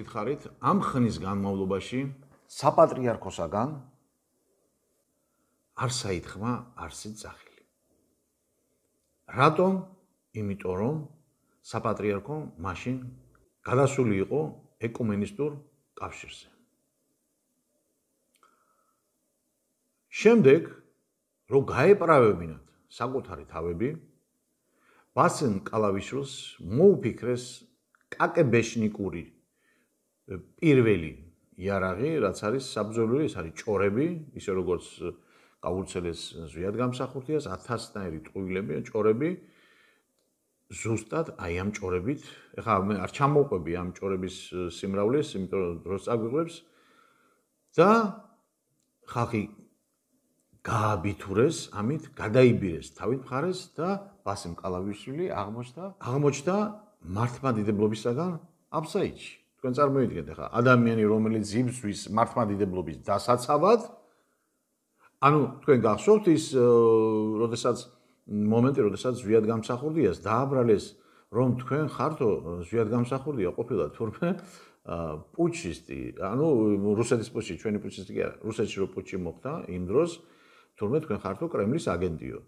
მოგითხარით, ამ ხნის განმავლობაში საპატრიარქოსაგან არ საითხმა არსით სახელი. რატომ? იმიტომ რომ საპატრიარქო მაშინ გადასული იყო ეკუმენისტურ კავშირზე. შემდეგ, რომ გაეპრავებინათ საკუთარი თავები, ბასენ კალავიშვილს მოუფიქრეს კაკებეშნიკური პირველი იარაღი, რაც არის საბრძოლო, ეს არის ჭორები, ისე როგორც გავრცელეს ზვიადგამსახურდიას 1000-ნაირი ტყუილები, ჭორები, ზუსტად აი ამ ჭორებით, ეხლა მე არ ჩამოვყვები ამ ჭორების სიმრავლეს, იმიტომ რომ დროს წაგვიყვებს და ხალხი გააბითურეს, ამით გადაიბირეს თავით მხარეს და ბასემ კალავიშვილი აღმოჩნდა მართლმადიდებლობისაგან აბსაიდში. თქვენ წარმოიდგინეთ ახლა ადამიანი, რომელიც იბრძვის მართლმადიდებლობის დასაცავად, ანუ თქვენ გახსოვთ ის მომენტი, როდესაც ზვიადგამსახურდიას დააბრალეს, რომ თქვენ ხართო ზვიადგამსახურდია ყოფილა თურმე პუჩისტი, ანუ რუსეთის პუჩი, ჩვენი პუჩისტი კი არა, რუსეთში რო პუჩი მოხდა იმ დროს, თურმე თქვენ ხართო კრემლის აგენტიო.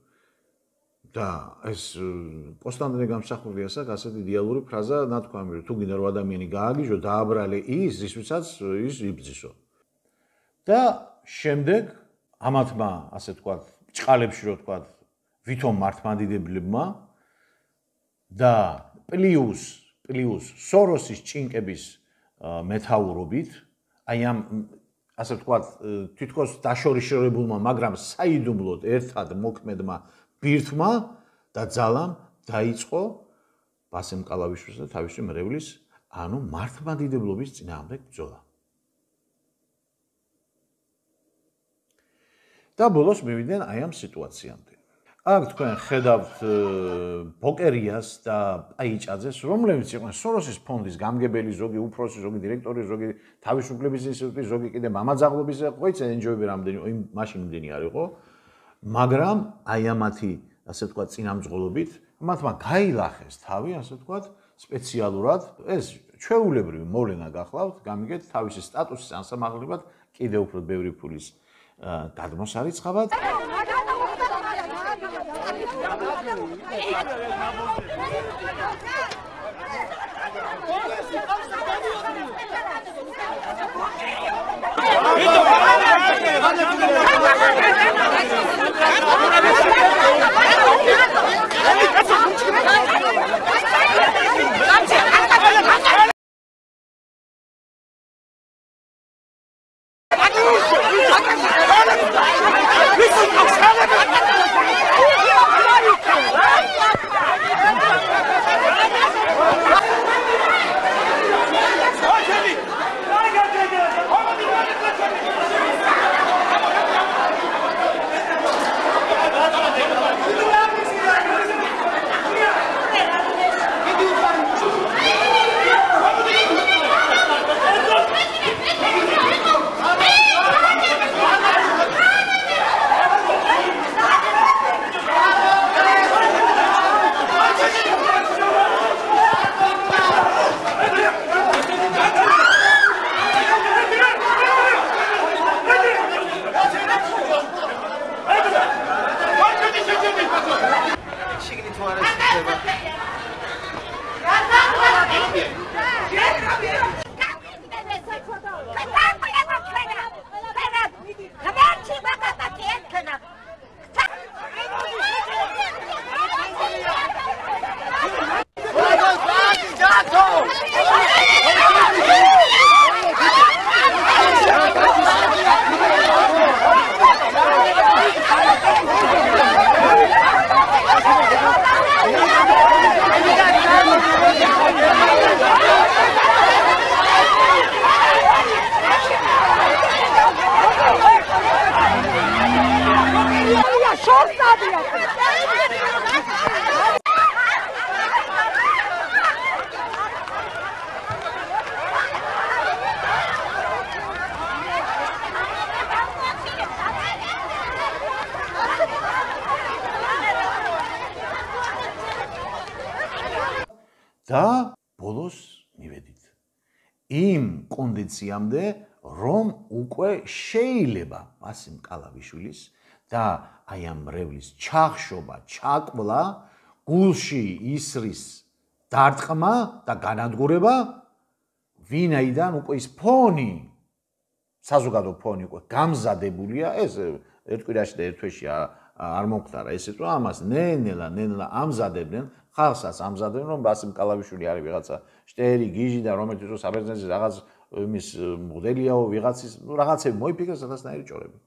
და ეს პოსტამდე გამსახურდიასაც ასეთი იდეალური ფრაზა ნათქვამი, რომ თუ გინდა რომ ადამიანი გააგიჟო, დააბრალე ის, რისთვისაც ის იბრძისო. და შემდეგ ამათმა, ასე ვთქვათ, ჭყალებში რო ვთქვათ, ვითომ მართლმადიდებლებმა და პლუს სოროსის ჭინკების მეთაურობით, აი ამ ასე ვთქვათ, თითქოს დაშორიშორებულმა, მაგრამ საიდუმლოდ ერთად მოქმედმა ბირთმა და ძალამ დაიწყო ბასემ კალავიშვილს და თავისი მრევლის, ანუ მართლმადიდებლობის წინააღმდეგ ბრძოლა. და ბოლოს მივიდნენ აი ამ სიტუაციამდე. აქ თქვენ ხედავთ ბოკერიას და პაიჭაძეს, რომლებიც იყვნენ სოროსის ფონდის გამგებელი, ზოგი უფროსი, ზოგი დირექტორი, ზოგი თავისუფლების ინსტიტუტის, ზოგი კიდე მამაძაღლობის, ყოიცე ენჯოები რამდენი, მაშინ იმდენი არ იყო. მაგრამ აი ამათი, ასე ვთქვათ, წინამძღოლობით, მათმა გაილახეს თავი, ასე ვთქვათ, სპეციალურად, ეს ჩვეულებრივი მოვლენა გახლავთ, გამიგეთ თავისი სტატუსის ანსამაღლებად კიდევ უფრო ბევრი ფულის გადმოსარიცხავად. და ბოლოს მივედით. იმ კონდიციამდე, რომ უკვე შეიძლება ბასიმ კალავიშვილის და აი ამ მრევლის ჩახშობა, ჩაკვლა, გულში ისრის დარტყმა და განადგურება, ვინაიდან უკვე ის ფონი, საზოგადო ფონი უკვე გამზადებულია, ეს ერთ კვირაში და ერთ თვეში არ მომხდარა ესეც, რომ ამას ნელა ამზადებდნენ, ხალხსაც ამზადებდნენ, რომ ბასიმ კალავიშვილი არის ვიღაცა შტერი, გიჟი და რომელიც რო საბერძნეთის რაღაც იმის მოდელიაო, ვიღაცის, რაღაცები მოიფიქრეს სადასნაირი ჭორები.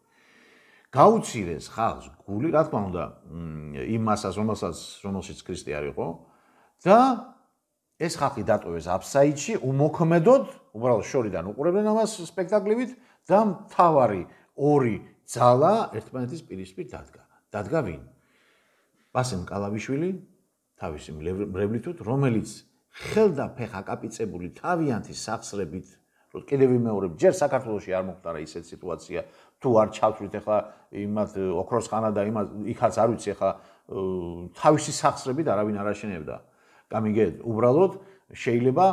გაუცირეს ხალხს გული, რა თქმა უნდა, იმ მასას, რომელშიც ქრისტე არ იყო და ეს ხალხი დატოვეს აფსაიდში, უმოქმედოდ, უბრალოდ შორიდან უყურებდნენ ამას სპექტაკლივით და მთავარი ორი ძალა ერთმანეთის პირისპირ დადგა. დადგა ვინ? ბასიმ კალავიშვილი, თავისი მრევლითუთ, რომელიც ხელდაფეხა კაპიცებული თავიანთი სახსრებით, რომ კიდევ ვიმეორებ, ჯერ საქართველოში არ მოხდარა ისეთ სიტუაცია, თუ არ ჩავთვლით ახლა იმათ ოქროსხანა და იმათ იქაც არ ვიცი ახლა თავისი სახსრებით არავინ არ აშენებდა. გამიგეთ, უბრალოდ შეიძლება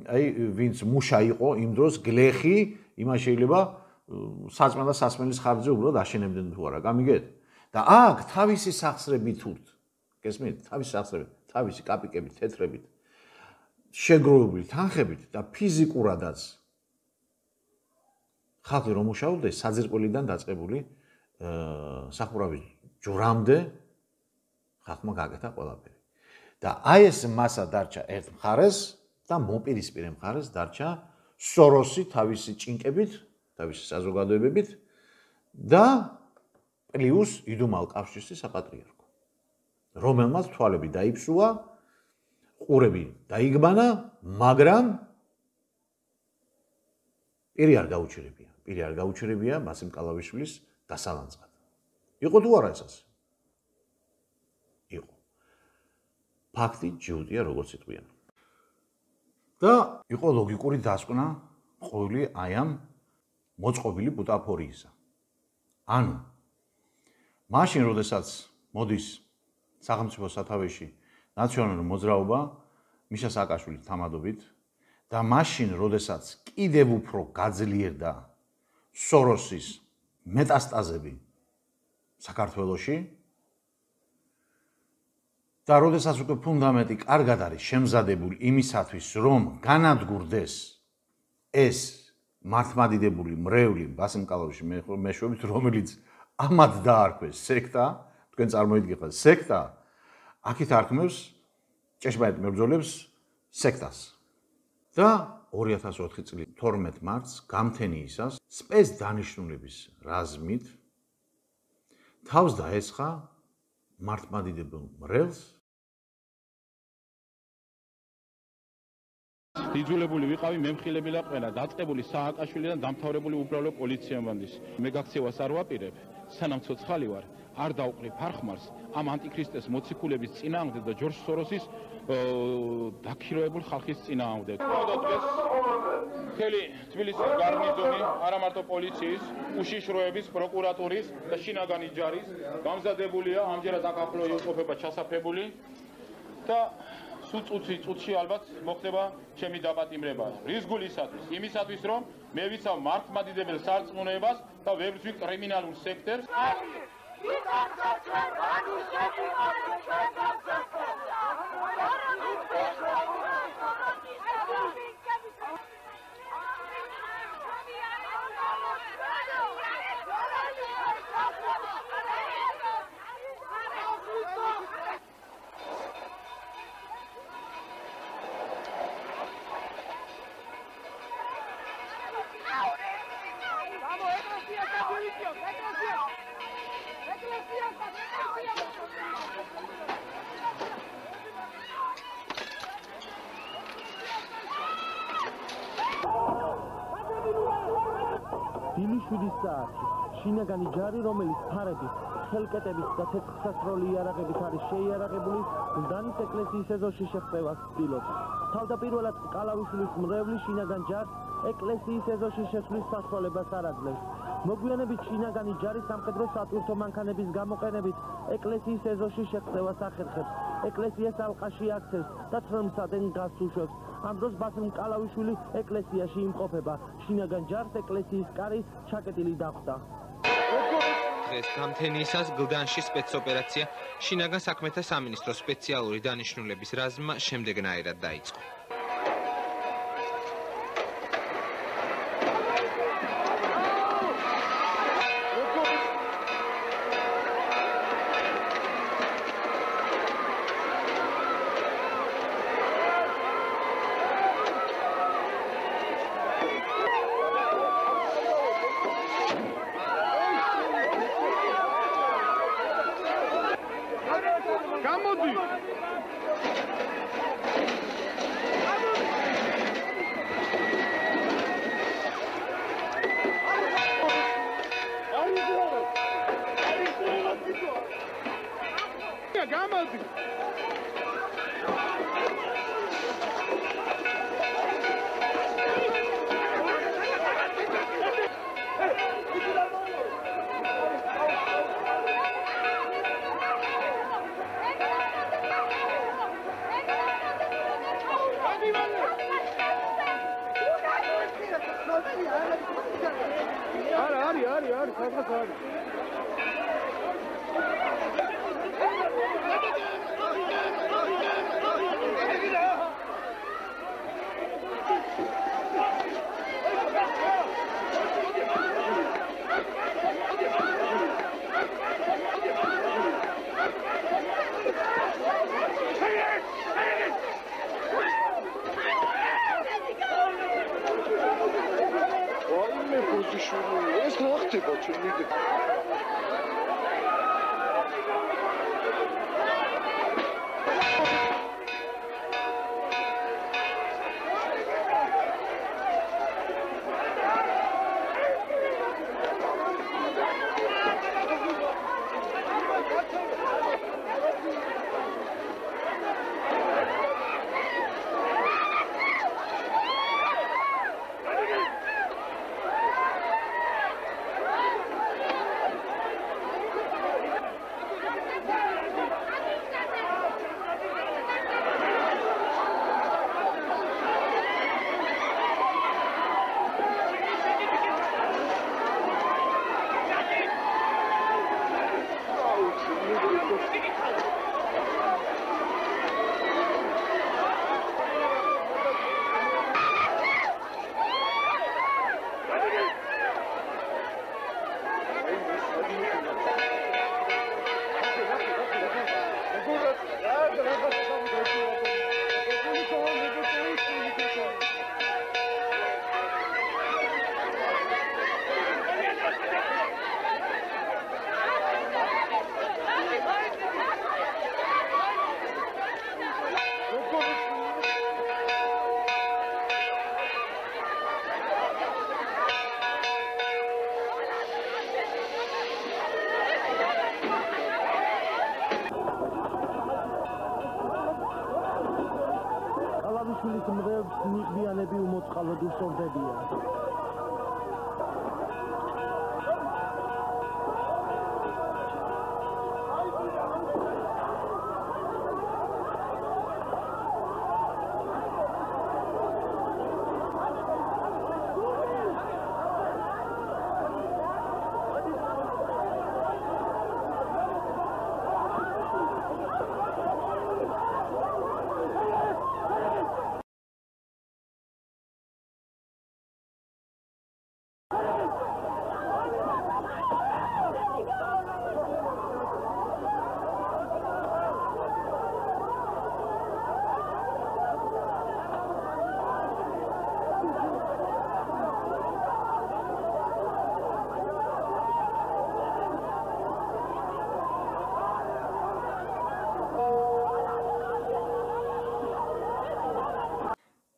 აი ვინც მუშა იყო იმ დროს გლეხი, იმას შეიძლება საწმა და სასმელის ხარჯზე უბრალოდ აშენებდნენ თუ არა, გამიგეთ? და აქ თავისი სახსრებით თურთ, გესმით? თავისი სახსრებით, თავისი კაპიკებით, თეთრებით, შეგროვებული თანხებით და ფიზიკურადაც ხალხი რომ მუშაობდა საძირკველიდან დაწყებული სახურავის ჯვრამდე ხალხმა გაკეთა ყველაფერი. და აი ეს მასა დარჩა ერთ მხარეს და მოპირისპირე მხარეს დარჩა სოროსი თავისი ჭინკებით, თავისი საზოგადოებებით და პლიუს იდუმალ კავშირის საპატრიარქო, რომელმაც თვალები დაიფსუა, ყურები დაიგბანა, მაგრამ პირი არ გაუჩერებია ბასიმ კალავიშვილის დასალანწყად. იყო თუ არა ეს? იყო. ფაქტი ჯიუტია როგორც იტყვიან. და იყო ლოგიკური დასკვნა ყოველი აი ამ მოწყობილი ბუტაფორიისა. ანუ მაშინ, როდესაც მოდის სახელმწიფო სათავეში ნაციონალური მოძრაობა მიშა სააკაშვილის თამადობით და მაშინ, როდესაც კიდევ უფრო გაძლიერდა სოროსის მეტასტაზები საქართველოში და როდესაც უკვე ფუნდამენტი კარგად არის შემზადებული იმისათვის, რომ განადგურდეს ეს მართლმადიდებელი მრევლი ბასიმ კალავიშვილი მეშვეობით, რომელიც ამად დაარქვეს სექტა, თქვენ წარმოიდგინეთ სექტა, აქეთ არქმევს ჭეშმარიტ მებრძოლებს სექტას. და 2004 წლის 12 მარტს გამთენიისას სპეცდანიშნულების რაზმით თავს დაესხა მართლმადიდებელ მრევლს. იძულებული ვიყავი მემხილები ლაყენა, დაწყებული სააკაშვილიდან დამთავრებული უბრალო პოლიციამბანდის. მე გაქცევას არ ვაპირებ, სანამ ცოცხალი ვარ, არ დავყრი ფარხმარს ამ ანტიქრისტეს მოციქულების წინააღმდეგ და ჯორჯ სოროსის დაქირავებულ ხალხის წინააღმდეგ. ხელი თბილისის გარნიზონი, არა მარტო პოლიციის, უშიშროების, პროკურატურის და შინაგანი ჯარის გამზადებულია, ამჯერად აქ ახლო იმყოფება ჩასაფრებული და სულ წუთში ალბათ მოხდება ჩემი დაპატიმრება. რის გულისათვის? იმისათვის, რომ მე ვიცავ მართლმადიდებელ სარწმუნოებას და ვერ ვცვი კრიმინალურ სექტორს. დილის 7 საათი შინაგანი ჯარი, რომელიც ფარების, ხელკეტების და თეთრსასროლი იარაღებით არის შეიარაღებული, გლდანის ეკლესიის ეზოში შეღწევას ცდილობს. თავდაპირველად კალავიშვილის მრევლის შინაგან ჯარს ეკლესიის ეზოში შესვლის სასწავლებას არ აძლევს. მოგვიანებით შინაგანი ჯარი სამხედრო სატვირთო მანქანების გამოყენებით ეკლესიის ეზოში შეღწევას ახერხებს. ეკლესიას ალყაში აქცევს და თრმსადენ გაზს უშვებს. ამ დროს ბასილ კალავიშვილი ეკლესიაში იმყოფება. შინაგან ჯარს ეკლესიის კარი ჩაკეტილი დახვდა. დღეს გამთენიისას გლდანში სპეცოპერაცია შინაგან საქმეთა სამინისტროს სპეციალური დანიშნულების რაზმმა შემდეგნაირად დაიწყო. კალავიშვილის მრევლს ნიღბიანები უმოწყალოდ უსწორდებიან.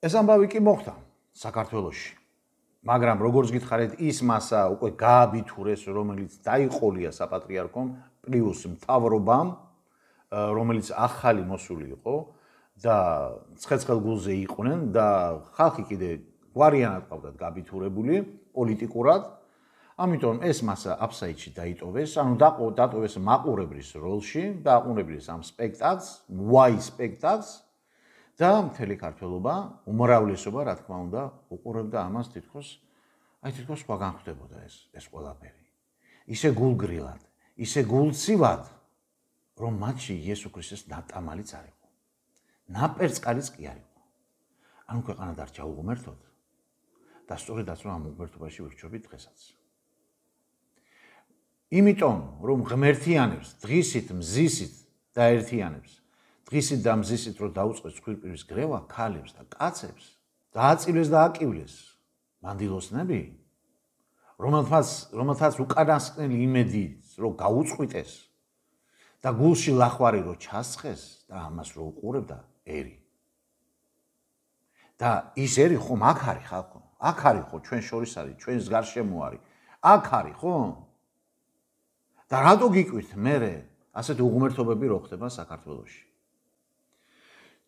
ეს ამბავი კი მოხდა საქართველოში. მაგრამ როგორც გითხარით, ის მასა უკვე გააბითურეს, რომელიც დაიყოლია საპატრიარქომ პლუს მთავრობამ, რომელიც ახალი მოსული იყო და ცხეცხელ გულზე იყვნენ და ხალხი კიდე გვარიანად ყავდათ გაბითურებული პოლიტიკურად. ამიტომ ეს მასა აფსაიდში დაიტოვეს, ანუ დატოვეს მაყურებლის როლში, დააყურებდეს ამ სპექტაკლს, Y სპექტაკლს და მთელი ქართველობა, უმრავლესობა, რა თქმა უნდა, უყურებდა ამას თითქოს სხვაგან ხდებოდა ეს ყველაფერი. ისე გულგრილად, ისე გულცივად, რომ მათში იესო ქრისტეს ნატამალიც არ იყო. ნაპერწკალიც კი არ იყო. ანუ ქვეყანა დარჩა უღმერთოდ და სწორედაც რომ ამ უღმერთობაში ვირჩევით დღესაც. იმიტომ რომ ღმერთიანებს დღისით მზისით დაერთიანებს, დღისით და მზისით რომ დაუწყეს ცხვირპირის გრევა ქალებს და კაცებს, დააწილეს და აკივლეს მანდილოსნები, რომელთაც უკანასკნელი იმედი რომ გაუწყვიტეს და გულში ლახვარი რომ ჩასხეს და ამას რომ უყურებდა ერი. და ის ერი ხომ აქ არის ხალხო, აქ არის ხო ჩვენ შორის არის, ჩვენს გარშემო არის, აქ არის ხო? და რატო გიკვირთ მერე ასეთი უღმერთობები რო ხდება საქართველოში?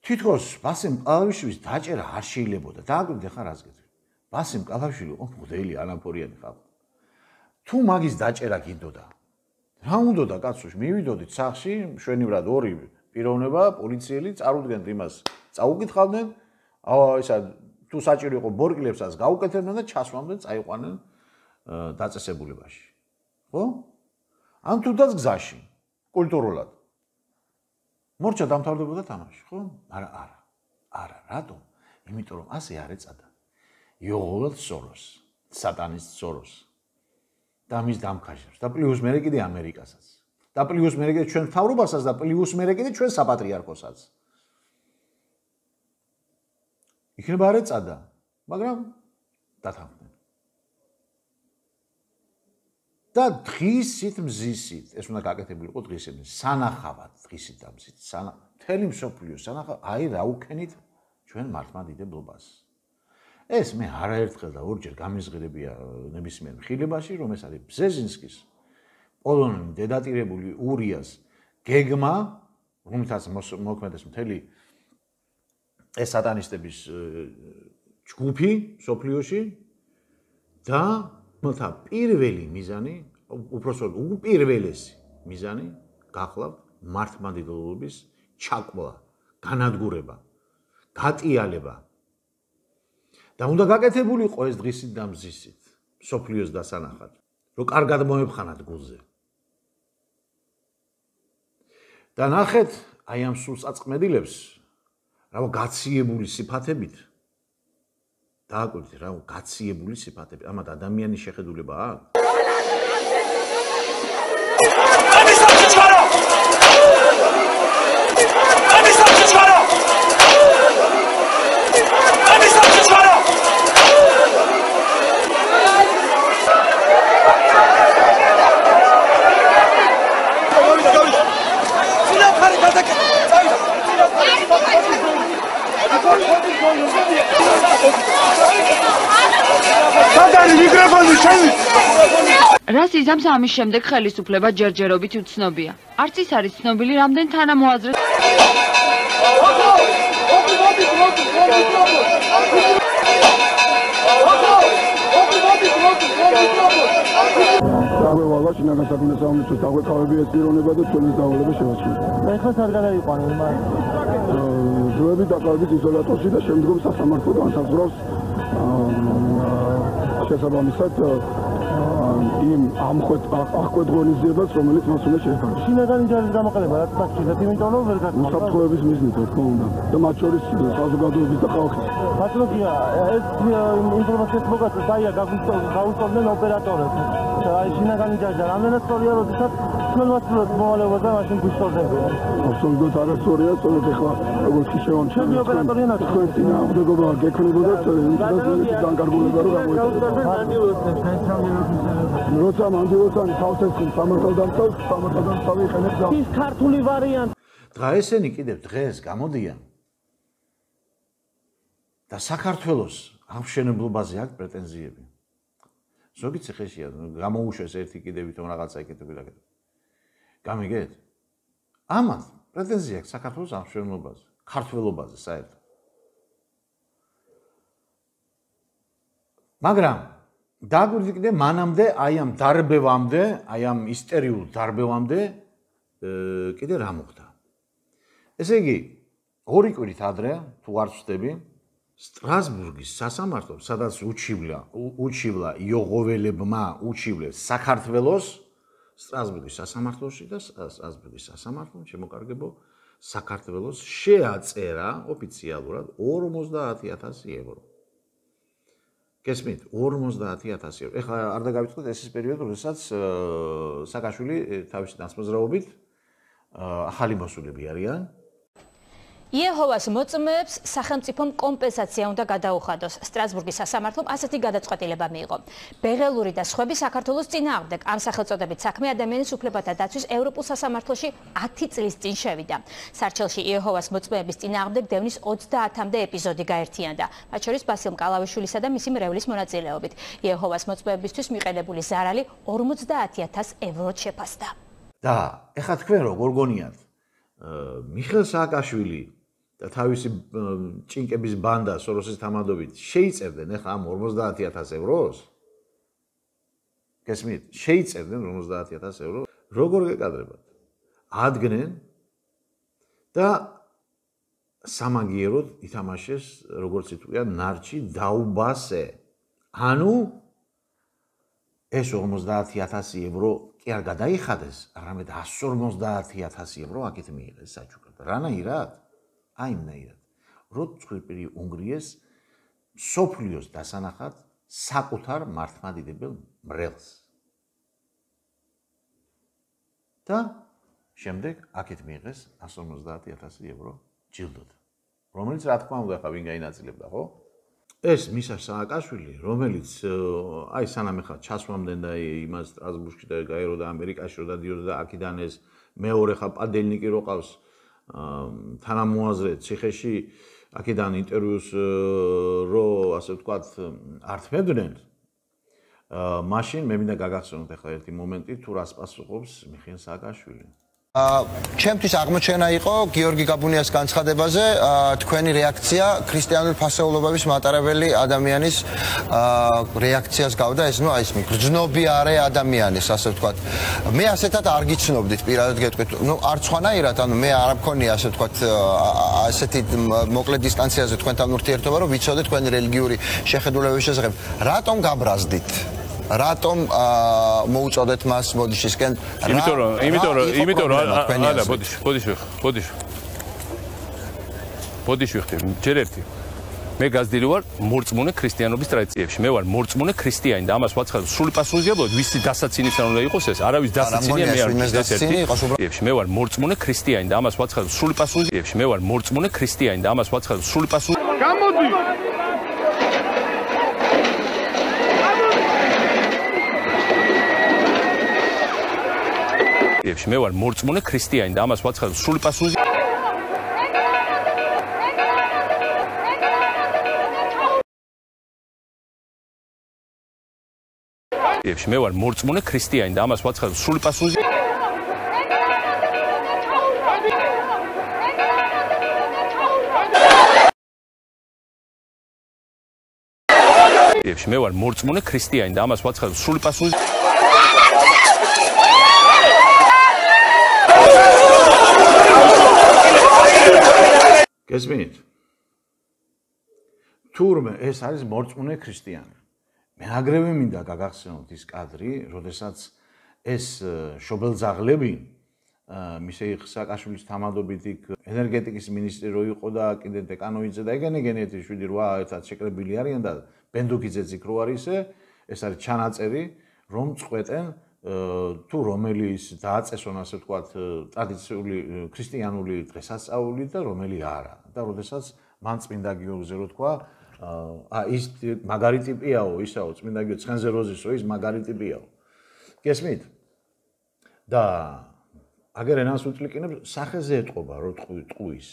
თითქოს ბასემ ყალავიშვილის დაჭერა არ შეიძლებოდა. დააკვირდე ხარ რას გეტყვი? ბასემ ყალავიშვილი იყო მღვდელი ანამფორიანი ხალხი. თუ მაგის დაჭერა გინდოდა, რა უნდოდა კაცოш, მივიდოდით სახლში, მშვენივრად ორი პიროვნება, პოლიციელი, წარუდგენთ იმას, წაუკითხავდნენ, ისა თუ საჭირო იყო ბორკილებსაც გაუკეთებდნენ და ჩასვამდნენ, წაიყვანენ დაწესებულებაში. ხო? ან თუნდაც გზაში, კულტურულად. მორჩა დამთავრდებოდა თამაში, ხო? მაგრამ არა, რატომ? იმიტომ რომ ასე არ ეწადა. იოღოლად სოროს, სატანის სოროს და მის დამქაშებს და პლუს მერე კიდე ამერიკასაც. და პლუს მერე კიდე ჩვენ მთავრობასაც და პლუს მერე კიდე ჩვენ საპატრიარქოსაც. იქნება არ ეწადა, მაგრამ დათანხმდნენ. და დღისით მზისით, ეს უნდა გაკეთებულიყო დღისით, სანახავად დღისით და მზით, მთელი მსოფლიო სანახავად, აი რა უქენით ჩვენ მართლმადიდებლობას. ეს მე არაერთხელ და ორჯერ გამიზღირებია ნებისმიერ მხილებაში, რომ ეს არის ბზეზინსკის პოლონელი დედატირებული ურიას გეგმა, რომელთაც მოქმედებს მთელი ეს სატანისტების ჯგუფი სოფლიოში და მოთა პირველი მიზანი, უпроსოდ უპირველესი მიზანი გახლავთ მართლმადიდებლობის ჩაკვა, განადგურება, გატიალება. და უნდა გაკეთებულიყო ეს დღისით და მზისით, სოფლიოს დასანახად, რომ კარგად მოეფხანათ გულზე. და ნახეთ, აი ამ სულწაწყმედილებს, რა გაციებული სიფათებით დააკვირდით, რა გაციებული სიფათები, ამათ ადამიანის შეხედულება აქვს. რას იზამს ამის შემდეგ ხელისუფლება ჯერჯერობით უცნობია. არც ის არის ცნობილი, რამდენ თანამოაზრეს დაგვევალა შინაგან საქმეთა სამინისტროს დაგვეკავები ეს პიროვნება და ჩვენს დავალება შევაჩერეთ. ეხლა სად გადაიყვანო მას? ძველი დაკავებით იზოლატორში და შემდგომ სასამართლო განსაზღვრავს შესაბამისად იმ აღკვეთ ღონისძიებას, რომელიც მას უნდა შეეხება. შინაგანი ჯარის გამოყენება რაც მაშინაც, იმიტომ რომ ვერ გასწავლ. უსაფრთხოების მიზნით, რა თქმა უნდა, და მათ შორის საზოგადოების და ხალხის. ბატონია, ეს ინფორმაციას მოგაცეთ, აია გაუსწორდნენ ოპერატორებს. აი შინაგანი ჯარი რამდენად სწორია, როდესაც ჩვენ ვასწავლეთ მოვალეობა და მაშინ გვისწორდებიან. აბსოლუტურად არასწორია, სწორედ ახლა როგორც შევამჩნევთ. ჩვენი ოპერატორია ნახეთ. თქვენ წინააღმდეგობა გექნებოდათ განკარგულება რომ როცა მანდილოსანი თავს ესხმის სამართალდამცავი იყენებს და ის ქართული ვარიანტი. დღა ესენი კიდევ დღეს გამოდიან და საქართველოს აღმშენებლობაზე აქვს პრეტენზიები. ზოგი ციხეშია, გამოუშვეს ერთი კიდევ ვითომ რაღაცა ეკეთები და ეკეთები. გამიგეთ? ამას პრეტენზია აქვს საქართველოს აღმშენებლობაზე, ქართველობაზე საერთოდ. მაგრამ დაგვირდიკდე მანამდე აი ამ დარბევამდე, აი ამ ისტერიულ დარბევამდე კიდე რა მოხდა. ესე იგი, ორი კვირით ადრე, თუ არ ვცდები, სტრასბურგის სასამართლომ, სადაც უჩივლა იოღოველებმა უჩივლეს საქართველოს სტრასბურგის სასამართლოში და სტრასბურგის სასამართლომ შემოკარგებო საქართველოს შეაწერა ოფიციალურად 50,000 евро. გესმით, 50,000 евро. ეხლა არ დაგავიწყდეთ ეს ის პერიოდი, როდესაც სააკაშვილი თავისი დასმოზრაობით ახალი მოსულები არიან. იეჰოვას მოწმეებს სახელმწიფომ კომპენსაცია უნდა გადაუხადოს. სტრასბურგის სასამართლომ ასეთი გადაწყვეტილება მიიღო. ბეღელური და სხვები საქართველოს წინააღმდეგ ამ სახელწოდებით საქმე ადამიანის უფლებათა დაცვის ევროპულ სასამართლოში 10 წლის წინ შევიდა. სარჩელში იეჰოვას მოწმეების წინააღმდეგ დევნის 30-მდე ეპიზოდი გაერთიანდა, მათ შორის ბასილ მკალავიშვილისა და მისი მრევლის მონაწილეობით. იეჰოვას მოწმეებისთვის მიყენებული ზარალი 50,000 ევროდ შეფასდა. და ეხლა თქვენ როგორ გონიათ, მიხეილ სააკაშვილი და თავისი ჭინკების ბანდა სოროსის თამადობით შეიწერდნენ ეხლა ამ 50,000 ევროს? გესმით? შეიწერდნენ 50,000 ევროს? როგორ გეკადრებათ? ადგენენ და სამაგიეროდ ითამაშეს, როგორც იტყვია, ნარჩი დაუბასე. ანუ ეს 50,000 евро კი არ გადაიხადეს, არამედ 150,000 евро აქეთ მიიღეს საჩუქრად. რანაირად? აი იმნაირად. რო ცხვირპირი უნგრიეს სოფლიოს დასანახად საკუთარ მართლმადიდებელ მრევლს. და შემდეგ აქეთ მიიღეს 150,000 евро ჯილდოდ. რომელიც რა თქმა უნდა ხა ვინ გაინაწილებდა, ხო? ეს მისა სააკაშვილი, რომელიც აი სანამ ეხლა ჩასვამდე და იმას სტრასბურგში და გაერო და ამერიკაში რო დადიოდა და აქედან ეს მეორე ხა პადელნიკი რო ყავს თანამოაზრე ციხეში აქედან ინტერვიუს რო ასე ვთქვათ ართმევდნენ მაშინ მე მინდა გაგახსენოთ ეხლა ერთი მომენტი თუ რას პასუხობს მიხეილ სააკაშვილი. ჩემთვის აღმოჩენა იყო გიორგი გაბუნიას განცხადებაზე თქვენი რეაქცია ქრისტიანული ფასეულობების მატარებელი ადამიანის რეაქციას გავდა ეს ნუ აი ეს მიგრძნობიარე ადამიანის ასე ვთქვათ მე ასეთად არ გიცნობდით პირადად გეტყვით ნუ არც ხვანაირად ანუ მე არ მქონია ასე ვთქვათ ასეთი მოკლე დისტანციაზე თქვენთან ურთიერთობა რომ ვიცოდე თქვენი რელიგიური შეხედულებების შესახებ რატომ გაბრაზდით რატომ მოუწოდეთ მას მოდიშისკენ იმიტომ რომ არა ბოდიში ვიხდი ჯერ ერთი მე გაზრდილი ვარ მორწმუნე ქრისტიანობის ტრადიციებში მე ვარ მორწმუნე ქრისტიანი და ამას ვაცხადებ სრული პასუხისმგებლობით ვისი დასაცინისთან უნდა იყოს ეს არავის დასაცინია მე არ ვიცი ეს ერთი მე ვარ მორწმუნე ქრისტიანი და ამას ვაცხადებ სრული პასუხისმგებლობით მე ვარ მორწმუნე ქრისტიანი და ამას ვაცხადებ სრული პასუხისმგებლობით გამოდი მე ვარ მორწმუნე ქრისტიანი და ამას ვაცხადებ სრული პასუხისმგებლობით მე ვარ მორწმუნე ქრისტიანი და ამას ვაცხადებ სრული პასუხისმგებლობით მე ვარ მორწმუნე ქრისტიანი და ამას ვაცხადებ სრული პასუხისმგებლობით გესმით? თურმე ეს არის მორწმუნე ქრისტიანი. მე აგრევე მინდა გაგახსენოთ ის კადრი, როდესაც ეს შობელძაღლები მიხეილ სააკაშვილის თამადობით იქ ენერგეტიკის მინისტრი რო იყო და კიდე დეკანოიძე და ეგენეგენეთი 7-8 ერთად შეკრებილი არიან და ბენდუქიძეც იქ რო არის ეს არის ჩანაწერი რომ წყვეტენ თუ რომელიც დააწესონ ასე ვთქვათ ტრადიციული ქრისტიანული დღესასწაული და რომელი არა და როდესაც მან წმინდა გიორგზე რო თქვა ის მაგარი ტიპიაო ისაო წმინდა გიორგი ცხენზე როზისო ის მაგარი ტიპიაო გესმით და აგერ ენას უწლიკინებს სახეზე ეტყობა რო ტყუის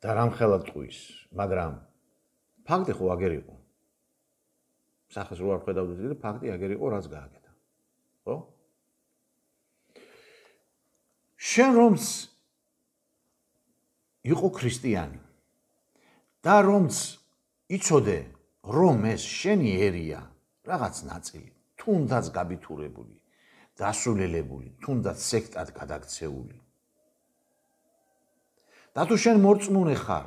და რამხელა ტყუის მაგრამ ფაქტი ხო აგერ იყო სახეს რო არ ხედავდით და ფაქტი აგერ იყო რაც გააკეთა ხო? შენ რომც იყო ქრისტიანი და რომც იცოდე რომ ეს შენი ერია რაღაც ნაწილი, თუნდაც გაბითურებული, დასულელებული, თუნდაც სექტად გადაქცეული. და თუ შენ მორწმუნე ხარ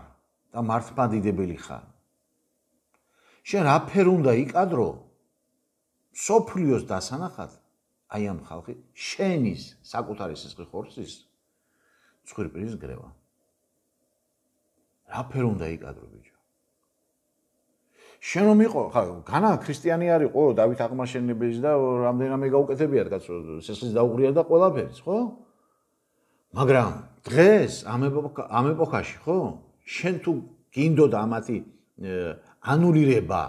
და მართლმადიდებელი ხარ, შენ რაფერ უნდა იკადრო სოფლიოს დასანახად აი ამ ხალხი შენის საკუთარი სისხლი ხორცის ცხვირპირის გრევა. რაფერ უნდა იკადრო ბიჭო? შენ რომ იყო, ხა, განა ქრისტიანი არისო, დავით აღმაშენებლის და რამდენიმე გაუკეთებიათ კაცო, სისხლის დაუღრია და ყველაფერს, ხო? მაგრამ დღეს ამ ეპოქაში, ხო? შენ თუ გინდოდა ამათი ანულირება,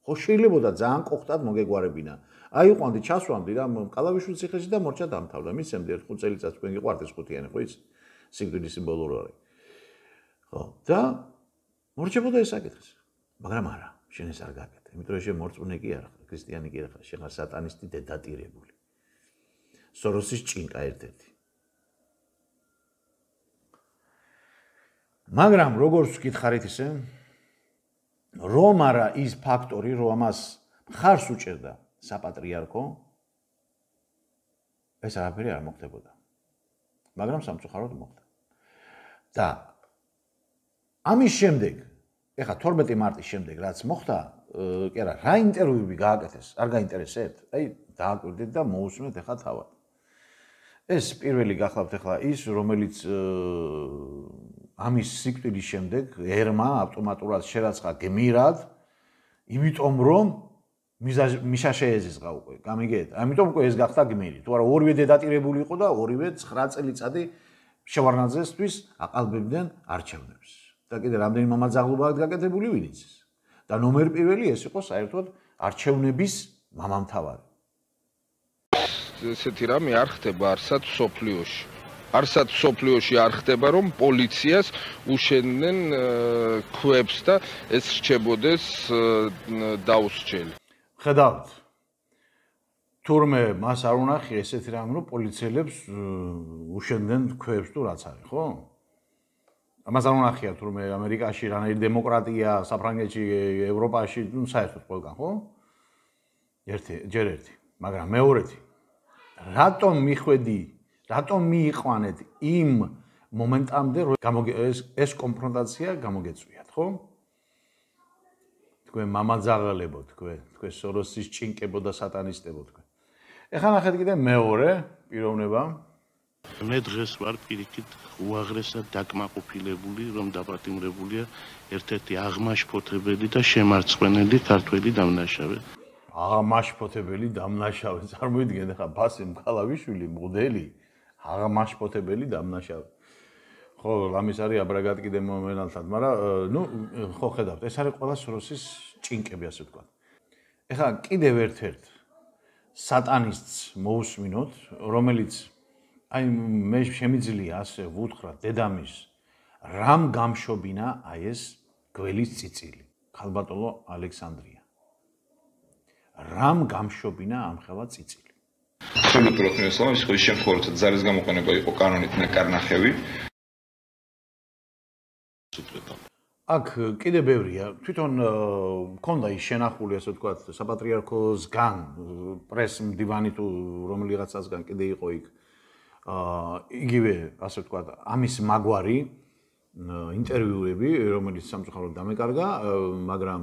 ხო შეიძლება ძალიან კოხტად მოგეგვარებინა. აი უყვანდი ჩასვამდი რა კალავიშვილის ციხეში და მორჩა დამთავრდა. მისცემდი 5 წელიწადს თქვენ გიყვარდეს ხუთიანი, ხო იცი? სიკვდილის სიმბოლური არის. ხო, და მორჩებოდა ეს საკითხი. მაგრამ არა, შენ ეს არ გაკეთე. იმიტომ რომ შენ მორწმუნე კი არ ხარ, ქრისტიანი კი არ ხარ, შენ ხარ სატანისტი დედატირებული. სოროსის ჭინკა ერთ-ერთი. მაგრამ როგორც გითხარით ისე, რომ არა ის ფაქტორი, რომ ამას მხარს უჭერდა საპატრიარქო, ეს არაფერი არ მოხდებოდა. მაგრამ სამწუხაროდ მოხდა. და ამის შემდეგ, ეხლა 12 მარტის შემდეგ რაც მოხდა, კი არა, რა ინტერვიუები გააკეთეს, არ გაინტერესებთ? აი, დააკვირდით და მოусმენთ ეხლა თავად. ეს პირველი გახლავთ ეხლა ის, რომელიც ამის სიკვდილის შემდეგ ერმა ავტომატურად შერაცხა გმირად, იმიტომ რომ მიშა შეეზიზღა უკვე, გამიგეთ? ამიტომ უკვე ეს გახდა გმირი. თუ არა ორივე დედატირებული იყო და ორივე 9 წელიწადი შევარნაძესთვის აყალბებდნენ არჩევნებს. და კიდე რამდენი მამაძაღლობა აქვს გაკეთებული ვინ იცის? და ნომერ პირველი ეს იყო საერთოდ არჩევნების მამამთავარი. ესეთი რამე არ ხდება არსად სოფლიოში. არსად სოფლიოში არ ხდება რომ პოლიციას უშენდნენ ქვებს და ეს რჩებოდეს დაუსჯელი. ხედავთ. თურმე მას არ უნახია ესეთი რამე რომ პოლიციელებს უშენდნენ ქვებს თუ რაც არის, ხო? ამას არ უნახია თურმე ამერიკაში რანაირი დემოკრატია, საფრანგეთში, ევროპაში, ნუ საერთოდ ყველგან, ხო? ჯერ ერთი, მაგრამ მეორეთი. რატომ მიხვედი, რატომ მიიყვანეთ იმ მომენტამდე, რომ ეს კონფრონტაცია გამოგეწვიათ, ხო? თქვენ მამაძაღლებო, თქვენ სოროსის ჭინკებო და სატანისტებო, თქვენ. ეხლა ნახეთ კიდე მეორე პიროვნება. მე დღეს ვარ პირიქით უაღრესად დაკმაყოფილებული, რომ დაპატიმრებულია ერთ-ერთი აღმაშფოთებელი და შემარცხვენელი ქართველი დამნაშავე. აღმაშფოთებელი დამნაშავე. წარმოიდგინეთ ახლა ბასემ ქალავიშვილი მოდელი აღმაშფოთებელი დამნაშავე. ხო, ამის არის აბრაგად კიდე მომენალთან, მაგრამ ნუ ხო ხედავთ, ეს არის ყველა სოროსის ჭინკები, ასე ვთქვათ. ეხლა კიდევ ერთ-ერთ სატანისტს მოусმინოთ, რომელიც აი მე შემიძლია ასე ვუთხრა დედამის რამ გამშობინა აი ეს გველის წიწილი, ქალბატონო ალექსანდრია. რამ გამშობინა ამხელა წიწილი. absolutურად მესაუბრე, ის შემთხვევით ზარის გამოყენება იყო კანონით ნაკარნახევი. აქ კიდე ბევრია. თვითონ მქონდა ის შენახული, ასე ვთქვათ, საპატრიარქოსგან, პრეს-მდივანი თუ რომელიღაცასგან კიდე იყო იქ. იგივე, ასე ვთქვათ, ამის მაგვარი ინტერვიუები, რომელიც სამწუხაროდ დამეკარგა, მაგრამ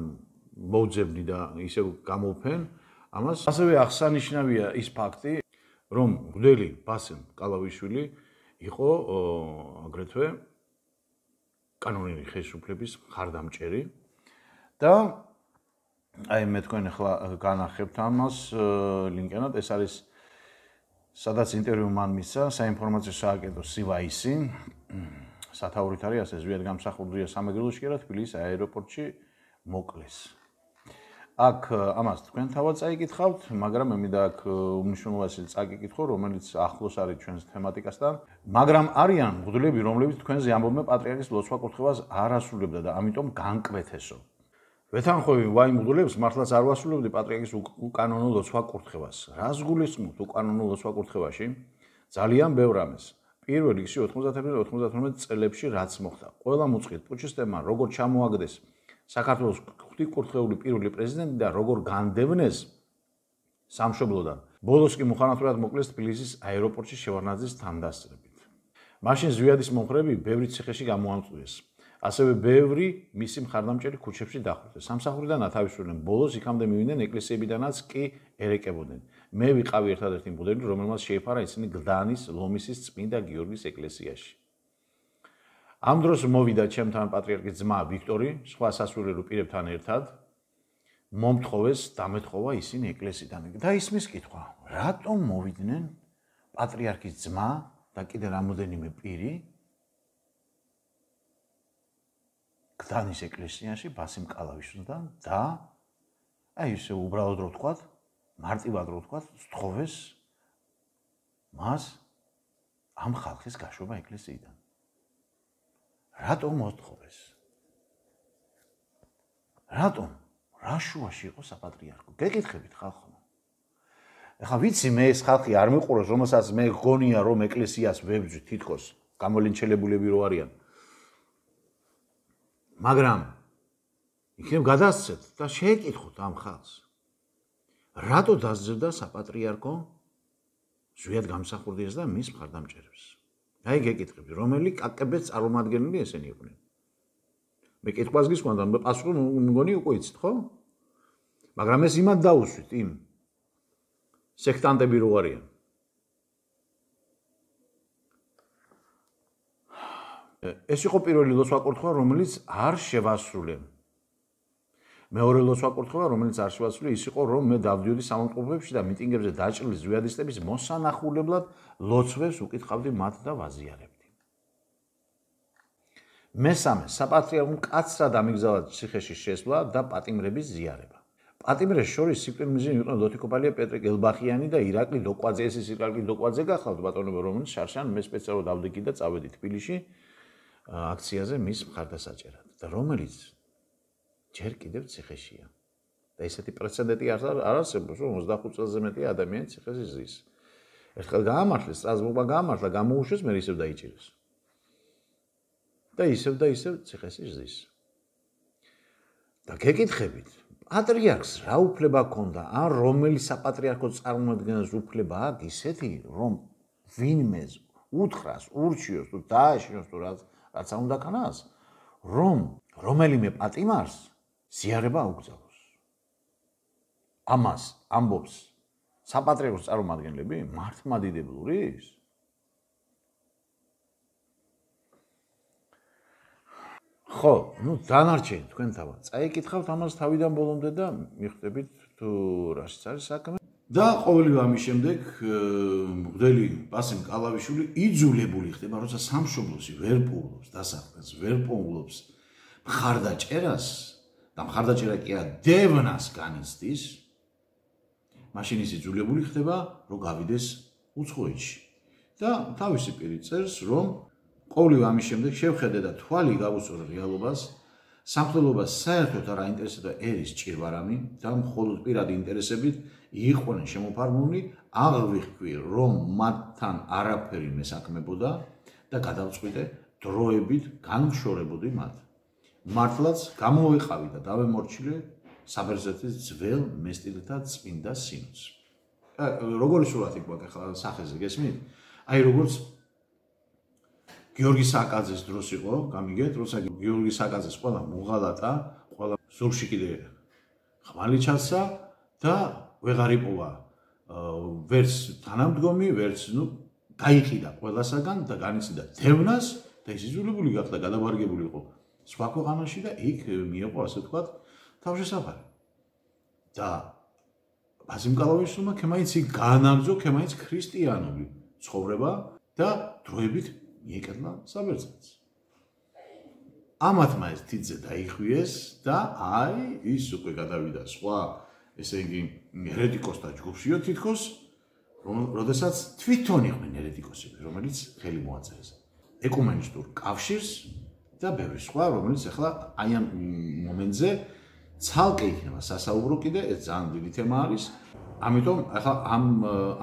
მოუძებნი და ისევ გამოვფენ ამას. ასევე აღსანიშნავია ის ფაქტი, რომ მღვდელი ბასემ კალავიშვილი იყო აგრეთვე კანონური ხელისუფლების მხარდამჭერი და აი მე თქვენ ახლა განახებთ ამას ლინკენად, ეს არის სადაც ინტერვიუ მან მისცა საინფორმაციო სააგენტო CYC სათაურით არის ასე ზვიადგამსახურდია სამეგრელოში და თბილისის აეროპორტში მოკლეს. აქ ამას თქვენ თავად წაიკითხავთ, მაგრამ მე მინდა აქ უმნიშვნელოვანესი წაიკითხო, რომელიც ახლოს არის ჩვენს თემატიკასთან, მაგრამ არიან მღვდლები, რომლებიც თქვენზე ამბობენ პატრიარქის ლოცვა კურთხევას არ ასრულებდა და ამიტომ განკვეთესო. ვეთანხმები ვაი მღვდლებს მართლაც არ ვასრულებდი პატრიარქის უკანონო ლოცვა კურთხევას. რას გულისხმობთ უკანონო ლოცვა კურთხევაში? ძალიან ბევრ რამეს. პირველ რიგში 91-92 წლებში რაც მოხდა. ყველა მოწყვეტ პუჩისტებმა როგორ ჩამოაგდეს საქართველოს ღვთიკურთხეული პირველი პრეზიდენტი და როგორ განდევნეს სამშობლოდან. ბოლოს კი მუხანათურად მოკლეს თბილისის აეროპორტში შევარდნაძის თანდასწრებით. მაშინ ზვიადის მომხრეები ბევრი ციხეში გამოამწვიეს. ასევე ბევრი მისი მხარდამჭერი ქუჩებში დახვრიტეს. სამსახურიდან ათავისუფლდნენ, ბოლოს იქამდე მივიდნენ ეკლესიებიდანაც კი ერეკებოდნენ. მე ვიყავი ერთადერთი მღვდელი, რომელმაც შეიფარა ისინი გლდანის ლომისის წმინდა გიორგის ეკლესიაში. ამ დროს მოვიდა ჩემთან პატრიარქის ძმა ვიქტორი, სხვა სასულიერო პირებთან ერთად. მომთხოვეს დამეთხოვა ისინი ეკლესიიდან. და ისმის კითხვა, რატომ მოვიდნენ პატრიარქის ძმა და კიდე რამოდენიმე პირი გლდანის ეკლესიაში ბასიმ კალავიშვილთან და აი ესე უბრალოდ რო ვთქვათ, მარტივად რო ვთქვათ, სთხოვეს მას ამ ხალხის გაშვება ეკლესიიდან. რატომ მოსთხოვეს? რატომ? რა შუაში იყო საპატრიარქო? გეკითხებით ხალხო. ეხლა ვიცი მე ეს ხალხი არ მიყურებს, რომელსაც მე გონია რომ ეკლესიას ვებძვი თითქოს გამოლინჩელებულები რო არიან. მაგრამ იქნებ გადასცეთ და შეეკითხოთ ამ ხალხს. რატო დასძებდა საპატრიარქო ზვიად გამსახურდიას და მის მხარდამჭერებს? აი გეკითხები, რომელი კაკებეც წარმომადგენელი ესენი იყვნენ. მე კითხვას გისვამ და პასუხი მგონი უკვე იცით, ხო? მაგრამ ეს იმად დაუსვით იმ სექტანტები რო არიან. ეს იყო პირველი ლოცვა-კურთხევა, რომელიც არ შევასრულე. მეორე ლოცვა-კურთხევა, რომელიც არ შევასრულე, ის იყო, რომ მე დავდიოდი სამომწყობლებში და მიტინგებზე დაჭრილი ზვიადისტების მოსანახულებლად ლოცვებს უკითხავდი მათ და ვაზიარებდი. მესამე, საპატრიარქომ კაცრად ამიგზავნა ციხეში შესვლა და პატიმრების ზიარება. პატიმრებს შორის სიკვდილმიზანი იყვნენ ლოთიკოპალია პეტრე გელბახიანი და ირაკლი ლოკვაძე. ეს ირაკლი ლოკვაძე გახლავთ ბატონებო, რომელიც შარშან მე სპეციალურად დავდიგი და წავედი თბილისში აქციაზე მის მხარდასაჭერად და რომელიც ჯერ კიდევ ციხეშია. და ესეთი პრეცედენტი არ არსებობს, რომ 25 წელზე მეტი ადამიანი ციხეში ზის. ერთხელ გაამართლეს, სტრასბურგმა გაამართლა, გამოუშვეს, მე ისევ დაიჭირეს. და ისევ ციხეში ზის. და გეკითხებით, პატრიარქს რა უფლება ჰქონდა, ან რომელი საპატრიარქო წარმომადგენელს უფლება აქვს ისეთი, რომ ვინმეს უთხრას, ურჩიოს თუ დააშინოს თუ რაც უნდა ქანას, რომ რომელიმე პატიმარს ზიარება აუგზავნოს. ამას ამბობს საპატრიარქოს წარმომადგენლები მართლმადიდებლურის? ხო, დანარჩენი თქვენ თავად. წაიკითხავთ ამას თავიდან ბოლომდე და მიხვდებით თუ რაშიც არის საქმე. და ყოველივე ამის შემდეგ მღვდელი ბასიმ კალავიშვილი იძულებული ხდება, როცა სამშობლოში ვერ პოულობს დასახდას, ვერ პოულობს მხარდაჭერას და მხარდაჭერა კი დევნას განიცდის, მაშინ ის იძულებული ხდება, რომ გავიდეს უცხოეთში. და თავისი პირი წერს, რომ ყოველივე ამის შემდეგ შევხედე და თვალი გავუსწორო რეალობას, სამხედროობას საერთოდ არ აინტერესებდა ერის ჭირვარამი და მხოლოდ პირადი ინტერესებით იყვნენ შემოფარგლული, აღვიხვი, რომ მათთან არაფერი მესაქმებოდა და გადავწყვიტე დროებით განვშორებოდი მათ. მართლაც გამოვიყავი და დავემორჩილე საბერძნეთის ძველ მესტილთა წმინდა სინოდს. როგორი სურათი გვაქვს ახლა სახეზე გესმით? აი როგორც გიორგი საკაძის დროს იყო, გამიგეთ, როცა გიორგი საკაძის ყველა მუღალატა, ყველა ზურგში კიდე ხმალი ჩასცა და ვეღარ იპოვა ვერც თანამდგომი, ვერც გაიყიდა ყველასაგან და განიცდიდა დევნას და ის იძულებული გახდა გადავარგებული იყო სხვა ქვეყანაში და იქ მიეყო ასე ვთქვათ თავშესაფარი. და ბასიმ კალავიშვილმა ქემაინც განაგრძო ქემაინც ქრისტიანული ცხოვრება და დროებით მიეკეთლა საბერძნეთს. ამათმა ეს თითზე დაიხვიეს და აი ის უკვე გადავიდა სხვა, ესე იგი ერეტიკოსთა ჯგუფშიო თითქოს, როდესაც თვითონ იყვნენ ერეტიკოსები, რომელიც ხელი მოაწერეს ეკუმენისტურ კავშირს და ბევრი სხვა, რომელიც ახლა აი ამ მომენტზე ცალკე იქნება სასაუბრო კიდე, ეს ძალიან დიდი თემა არის. ამიტომ ახლა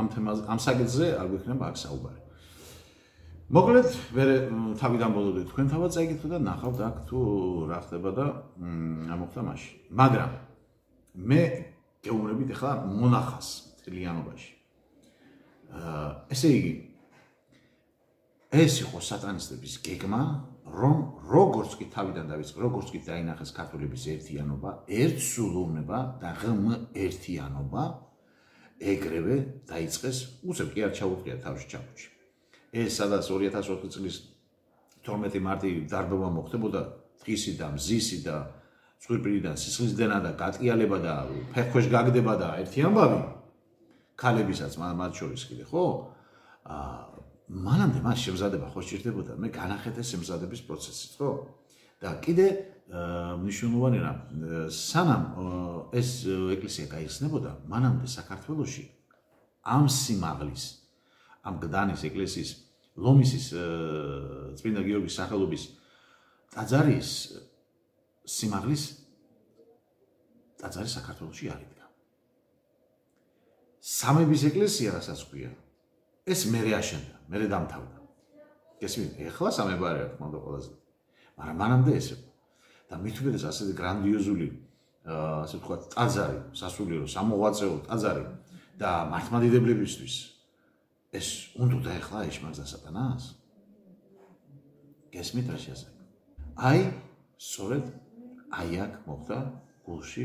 ამ თემაზე, ამ საკითხზე არ გვექნება აქ საუბარი. მოკლედ, მე თავიდან ბოლომდე თქვენ თავად წაიკითხოთ და ნახავთ აქ თუ რა ხდება და ამოხდა მაშინ. მაგრამ მე გეუბნებით ახლა მონახას, წლიანობაში. ესე იგი, ეს იყო სატანისტების გეგმა, რომ როგორც კი თავიდან დავიწყე, როგორც კი დაინახეს ქართველების ერთიანობა, ერთსულოვნება და ღმერთიანობა, ეგრევე დაიწყეს, უცებ კი არ ჩაუყრია თავში ჩაფუჭი. ეს სადაც 2004 წლის 12 მარტი დარბევა მოხდებოდა, დღისი და მზისი და წვირპირიდან სისხლისდენა და გატყიალება და ფეხქვეშ გაგდება და ერთი ამბავი ქალებისაც მათ შორის კიდე, ხო? მანამდე მას შემზადება ხო სჭირდებოდა, მე განახეთე შემზადების პროცესით, ხო? და კიდე მნიშვნელოვანი რამ, სანამ ეს ეკლესია გაიხსნებოდა, მანამდე საქართველოში ამ სიმაღლის, ამ გდანის ეკლესიის ლომისის წმინდა გიორგის სახელობის ტაძარის სიმაღლის ტაძარი საქართველოში არ იდგა. სამების ეკლესია რასაც ქვია, ეს მერე აშენდა, მერე დამთავრდა. გესმით, ეხლა სამება არ აქვს მანდ ყველაზე. მაგრამ მანამდე ეს იყო. და მით უმეტეს ასეთი გრანდიოზული ასე ვთქვათ, ტაძარი, სასულიერო, სამოღვაწეო ტაძარი და მართლმადიდებლებისთვის ეს უნდა ეხლა ეშმაკდა სატანას? გესმით რა შეასრულა? აი, სწორედ აი აქ მოხდა გულში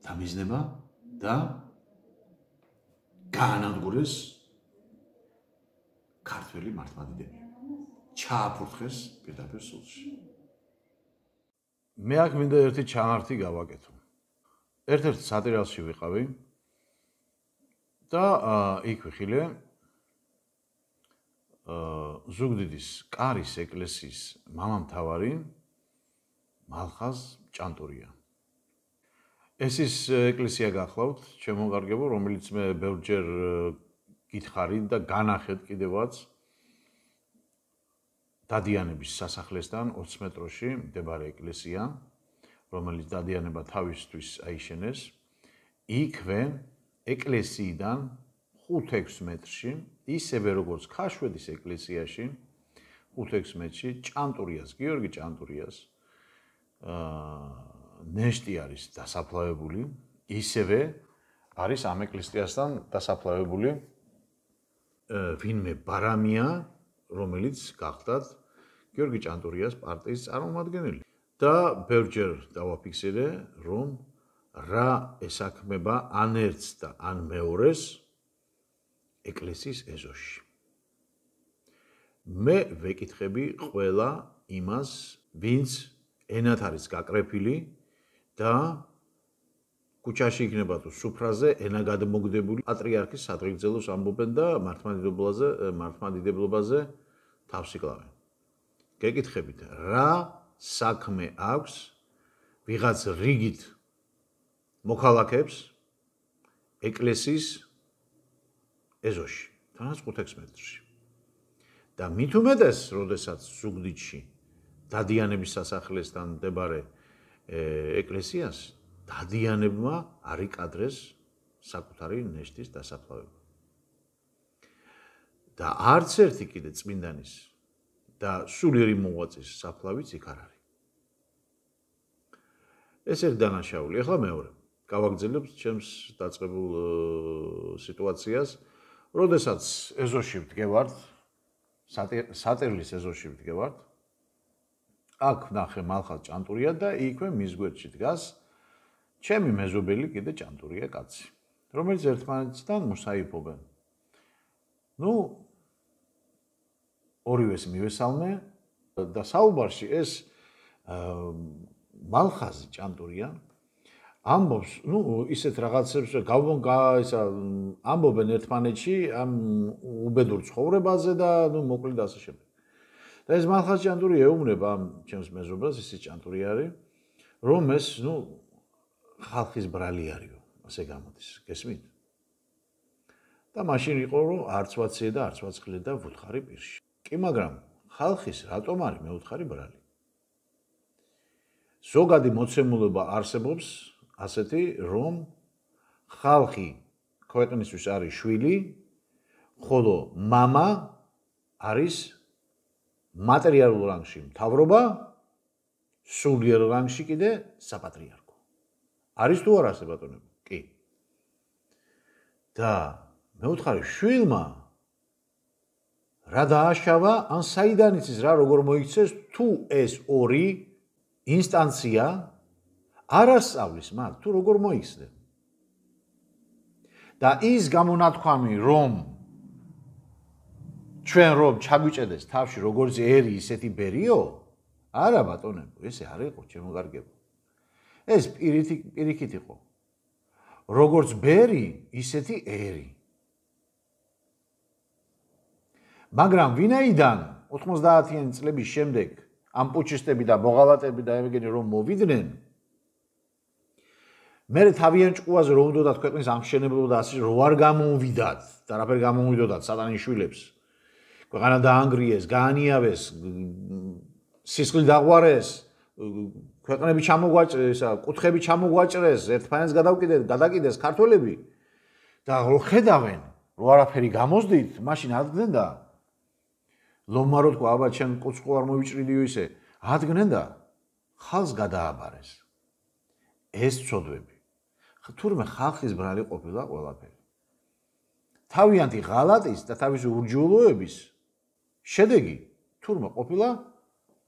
დამიზნება და გაანადგურეს ქართველი მართლმადიდებლები. ჩააფურთხეს პირდაპირ სულში. მე აქ მინდა ერთი ჩანართი გავაკეთო. ერთ-ერთ სატრიალში ვიყავი და იქ ვიხილე ზუგდიდის კარის ეკლესიის მამამთავარი მალხაზ ჭანტურია. ეს ის ეკლესია გახლავთ, ჩემო კარგებო, რომელიც მე ბევრჯერ გითხარით და განახეთ კიდევაც დადიანების სასახლესთან 20 მეტროში მდებარე ეკლესია, რომელიც დადიანება თავისთვის აიშენეს. იქვე ეკლესიიდან 5-6 მეტრში, ისევე როგორც ქაშვედის ეკლესიაში, 5-6 მეტრში ჭანტურიას, გიორგი ჭანტურიას ნეშტი არის დასაფლავებული, ისევე არის ამ ეკლესიასთან დასაფლავებული ვინმე ბარამია, რომელიც გახდათ გიორგი ჭანტურიას პარტიის წარმომადგენელი. და ბევრჯერ დავაფიქსირე, რომ რა ესაქმება ან ერთს და ან მეორეს ეკლესიის ეზოში. მე ვეკითხები ყველა იმას, ვინც ენათ არის გაკრეფილი და ქუჩაში იქნება თუ სუფრაზე ენა გადმოგდებული პატრიარქის სადღეგრძელოს ამბობენ და მართლმადიდებლობაზე თავს იკლავენ. გეკითხებით, რა საქმე აქვს ვიღაც რიგით მოქალაქეებს ეკლესიის ეზოში, თანაც 5-6 მეტრში. და მით უმეტეს, როდესაც ზუგდიდში დადიანების სასახლესთან მდებარე ეკლესიას დადიანებმა არ იკადრეს საკუთარი ნეშტის დასაფლავება. და არც ერთი კიდე წმინდანის და სულიერი მოღვაწის საფლავიც იქ არ არის. ეს ერთ დანაშაული. ახლა მეორე. გავაგრძელებ ჩემს დაწყებულ სიტუაციას, როდესაც ეზოში ვდგევართ, სატერლის ეზოში ვდგევართ, აქ ვნახე მალხაზ ჭანტურია და იქვე მის გვერდში დგას ჩემი მეზობელი კიდე ჭანტურია კაცი, რომელიც ერთმანეთთან მოსაიფობენ. ნუ ორივეს მივესალმე და საუბარში ეს მალხაზი ჭანტურია ამბობს, ნუ ისეთ რაღაცებს ამბობენ ერთმანეთში ამ უბედურ ცხოვრებაზე და ნუ მოკლედ ასე შემდეგ. და ეს მალხაზ ჭანტურია ეუბნება ამ ჩემს მეზობელს, ისიც ჭანტურია არის, რომ ეს ნუ ხალხის ბრალი არისო, ასე გამოდის, გესმით? და მაშინ იყო რომ არც ვაციე და არც ვაცხლე და ვუთხარი პირში. კი, მაგრამ ხალხის რატომ არის მეუთხარი ბრალი? ზოგადი მოცემულობა არსებობს ასეთი, რომ ხალხი ქვეყნისთვის არის შვილი, ხოლო მამა არის მატერიალურ რანგში მთავრობა, სულიერ რანგში კიდე საპატრიარქო. არის თუ არა ასე ბატონებო? კი. და მეუთხარი შვილმა რა დააშავა, ან საიდან იცის რა როგორ მოიქცეს, თუ ეს ორი ინსტანცია არ ასწავლის მათ, თუ როგორ მოიქცნენ. და ის გამონათქვამი, რომ ჩვენ რომ ჩაგვიჭედეს თავში როგორც ერი ისეთი ბერიო, არა ბატონებო, ესე არ იყო ჩემო კარგებო. ეს პირიქით იყო. როგორც ბერი, ისეთი ერი. მაგრამ ვინაიდან 90-იანი წლების შემდეგ ამ პუჩისტები და მოღალატეები და ეგენი რომ მოვიდნენ, მე თავიანთ ჭკუაზე რომ უნდათ ქვეყნის ამშენებლობა და ასე რო არ გამოვიდათ და რაფერ გამოვიდოდათ სატანის შვილებს. ქვეყანა დაანგრიეს, გაანიავეს, სისხლი დაღვარეს, ქვეყნები ჩამოგვაჭრეს, კუთხები ჩამოგვაჭრეს, ერთმანეთს გადაკიდეს ქართველები და რო ხედავენ, რო არაფერი გამოსდით, მაშინ ადგენენ და ლომარო თქვა, აბა ჩემ კუთხე არ მოვიჭრიდიო ისე, ადგენენ და ხალხს გადააბარეს. ეს ცოდვები. თურმე ხალხის ბრალი ყოფილა ყველაფერი. თავიანთი ღალატის და თავისი ურჯულოების შედეგი თურმე ყოფილა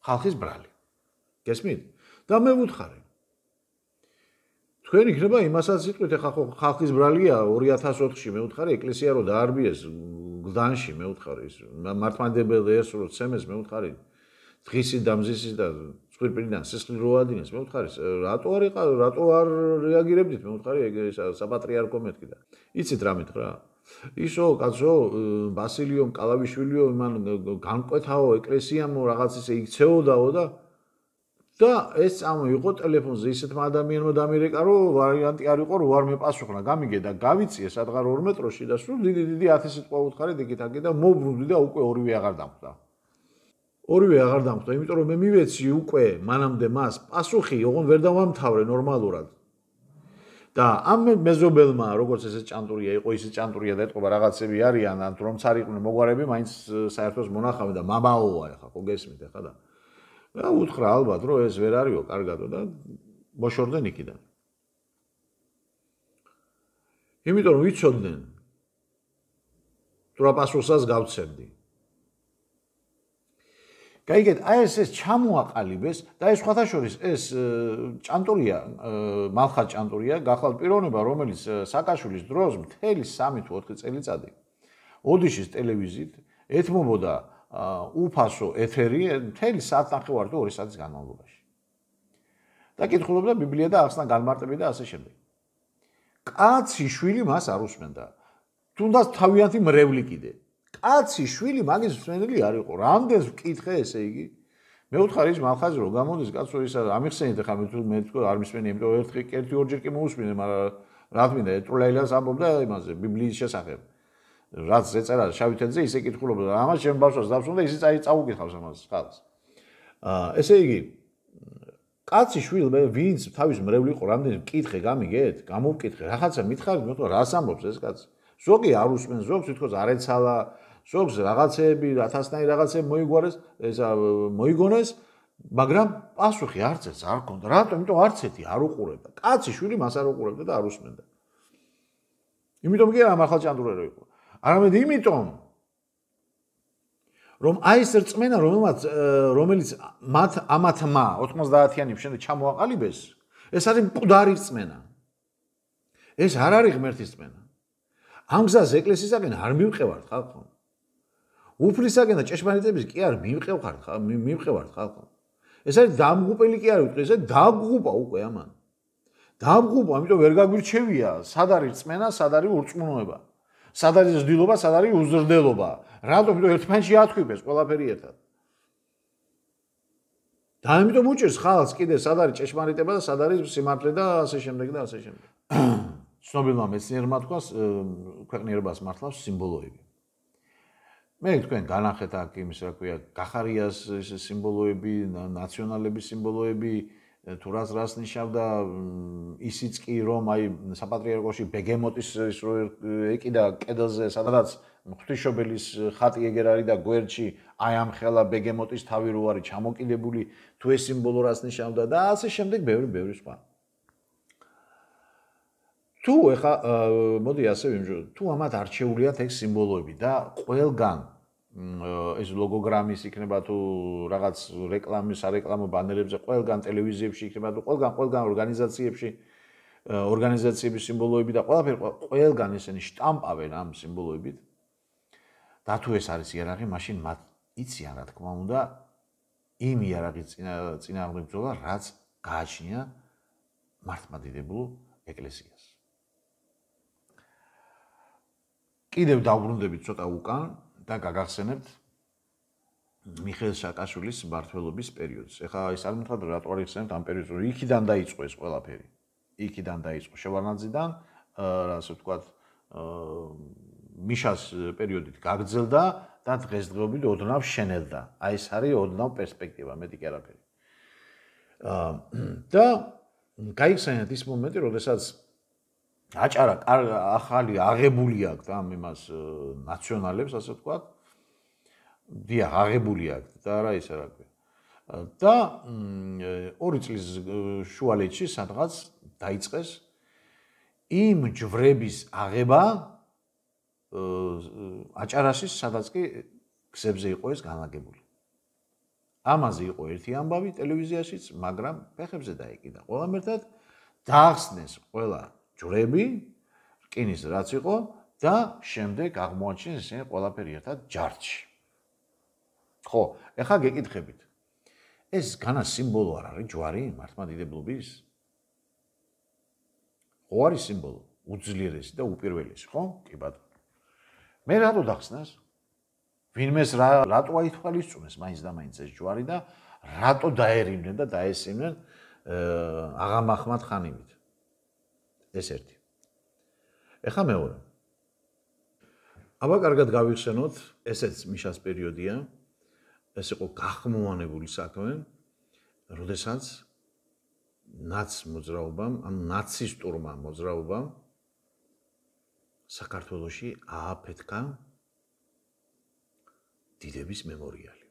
ხალხის ბრალი. გესმით? და მე ვუთხარი. თქვენ იქნება იმასაც იტყვით, ეხლა ხალხის ბრალია 2004-ში მე ვუთხარი ეკლესია რო დაარბიეს გლდანში მე ვუთხარი ის მართლმადიდებელი ერს რო ცემეს მე ვუთხარი დღისის და მზისის და სკვირპინიდან სისხლი რო ადინეს მე ვუთხარი რატო არ რეაგირებდით მე ვუთხარი ეს საპატრიარქო მეთქი და იცით რა მითხრა ისო კაცო ბასილიო კალავიშვილიო იმან განკვეთაო ეკლესიამო რაღაც ისე იქცეოდაო და ეს წამოიღო ტელეფონზე ისეთმა ადამიანმა დამირეკა რომ ვარიანტი არ იყო რომ არ მეპასუხნა გამიგე და გავიწიე სადღარ 2 მეტროში და სულ დიდი 10 სიტყვა ვუთხარი დიკითაკი და მოbrunდი და უკვე ორივე აღარ დამხვდა. ორივე აღარ დამხვდა, იმიტომ რომ მე მივეცი უკვე მანამდე მას პასუხი, ოღონ ვერ დავამთავრე ნორმალურად. და ამ მეზობელმა, როგორც ესე ჭანტურია იყო, ისე ჭანტურია და ეთყობა რაღაცები არიან, ან რომც არ იყვნენ მოგვარები, მაინც საერთოდ მონახავენ და მამაოა ეხლა, ხო გესმით ეხლა და და უთხრა ალბათ რომ ეს ვერ არისო კარგადო და მოშორდნენ იქიდან. იმიტომ რომ ვიცოდნენ თუ რა პასუხსაც გავცემდი. გაიგეთ, აი ეს ჩამოაყალიბეს და ეს სხვათა შორის ეს ჭანტურია, მალხად ჭანტურია, გახლავთ პიროვნება, რომელიც სააკაშვილის დროს მთელი 3 თუ 4 წელიწადი ოდიშის ტელევიზიით ეთმობოდა უფასო ეთერი მთელი საათნახევარი თუ 2 საათის განმავლობაში. და კითხულობდა ბიბლია და ახსნა განმარტები და ასე შემდეგ. კაცი შვილი მას არ უსმენდა. თუნდაც თავიანთი მრევლი კიდე. კაცი შვილი მაგის მსმენელი არ იყო. რამდენს ვკითხე ესე იგი? მე ვუთხარი ის მალხაზი რომ გამოდის კაცო ისა ამიხსენით ახლა მე თქო არ მისმენი, იმიტომ ერთი ორჯერ კი მოусმინე, მაგრამ რა თქმა უნდა ეტროლაილას ამბობდა იმაზე ბიბლიის შესახებ. რაც ეწერა შავი თეთრზე ისე კითხულობდა და ამას ჩემ ბავშვს დავსვენდა ისე წაუკითხავს ამას ხალხს. ესე იგი კაცი შვილი ვინც თავის მრევლი იყო რამდენი მკითხე გამიგეთ, გამოვკითხე, რაღაცა მითხარით, მე თქო რას ამბობს ეს კაცი. ზოგი არ უსმენს, ზოგს თვითონ არ ეცალა, ზოგს რაღაცეები, 1000-ნაირი რაღაცეები მოიგონეს, მოიგონეს, მაგრამ პასუხი არც ეს არ ქონდა. რატომ? იმიტომ არც ეთი არ უყურებდა. კაცი შვილი მას არ უყურებდა და არ უსმენდა. იმიტომ კი არა მართლა ჭანტურერო იყო. არამედ იმიტომ რომ აი ეს რწმენა რომელიც ამათმა 90-იანების შემდეგ ჩამოაყალიბეს, ეს არის მკვდარი რწმენა. ეს არ არის ღმერთის რწმენა. ამ გზას ეკლესიისაგან არ მივყევართ ხალხო. უფლისაგან და ჭეშმარიტების კი არ მივყევართ ხალხო. ეს არის დამღუპელი კი არ ვიტყვი, ეს დაგღუპა უკვე ამან. დამღუპა, ამიტომ ვერ გაგვირჩევია, სად არის რწმენა, სად არის ურწმუნოება. სად არის ზრდილობა, სად არის უზრდელობა. რატომ? იმიტომ ერთმანეთში ათქვიფეს ყველაფერი ერთად. და ამიტომ უჭერს ხალხს კიდე სად არის ჭეშმარიტება და სად არის სიმართლე და ასე შემდეგ და ასე შემდეგ. ცნობილმა მეცნიერმა თქვა ქვეყნიერებას მართლავს სიმბოლოები. მე თქვენ განახეთ აქ იმის რა ქვია, გახარიას სიმბოლოები, ნაციონალების სიმბოლოები, თუ რას ნიშნავდა ისიც კი რომ აი საპატრიარქოში ბეგემოტის ის რო ეკიდა კედელზე, სადაც ღვთისმშობელის ხატი ეგერ არის და გვერდში აი ამ ხელა ბეგემოტის თავი რო არის ჩამოკიდებული, თუ ეს სიმბოლო რას ნიშნავდა და ასე შემდეგ ბევრი სხვა. თუ ეხა მოდი ასე ვიმჯო, თუ ამათ არჩეულიათ ეგ სიმბოლოები და ყველგან ეს ლოგოგრამის იქნება თუ რაღაც რეკლამის, სარეკლამო ბანერებზე, ყველგან ტელევიზიებში იქნება თუ ყველგან ორგანიზაციების სიმბოლოები და ყველგან ესენი შტამპავენ ამ სიმბოლოებით. და თუ ეს არის იარაღი, მაშინ მათ იციან რა თქმა უნდა იმ იარაღის წინააღმდეგ ბრძოლა, რაც გააჩნია მართლმადიდებულ ეკლესიას. კიდევ დავბრუნდებით ცოტა უკან და გაგახსენებთ მიხეილ სააკაშვილის მმართველობის პერიოდს. ეხლა ის არ მითხრათ რატო არ იხსენებთ ამ პერიოდს, რომ იქიდან დაიწყო ეს ყველაფერი. იქიდან დაიწყო შევარდნაძიდან, ასე ვთქვათ, მიშას პერიოდით გაგრძელდა და დღესდღეობით ოდნავ შენელდა. აი ეს არის ოდნავ პერსპექტივა, მეტი კი არაფერი. და გაიხსენეთ ის მომენტი, როდესაც აჭარა ახალი აღებული აქვს ამ იმას ნაციონალებს, ასე ვთქვათ. დიახ, აღებული აქვს და რა ისე რა ქვია. და 2 წლის შუალედში სადღაც დაიწყეს იმ ჯვრების აღება აჭარაშის, სადაც კი გზებზე იყო ეს განლაგებული. ამაზე იყო ერთი ამბავი ტელევიზიაშიც, მაგრამ ფეხებზე დაეკიდა ყველამ ერთად, დაახსნეს ყველა ჯვრები, რკინის რაც იყო და შემდეგ აღმოაჩინეს ისინი ყველაფერი ერთად ჯარჯში. ხო, ეხლა გეკითხებით. ეს განა სიმბოლო არ არის ჯვარი მართლმადიდებლობის? ხო არის სიმბოლო, უძლიერესი და უპირველესი, ხო? კი ბატონო. მე რატო დახსნას? ვინმეს რატო აითვალისწუნეს მაინც და მაინც ეს ჯვარი და რატო დაერინდნენ და დაესწრნენ აღამ ახმად ხანიმით? ეს ერთი. ეხლა მეორე. აბა კარგად გავიხსენოთ, ესეც მიშას პერიოდია. ეს იყო გახმოვანებული საქმე, როდესაც ნაცმოძრაობამ, ან ნაცისტურმა მოძრაობამ საქართველოში ააფეთქა დიდების მემორიალი.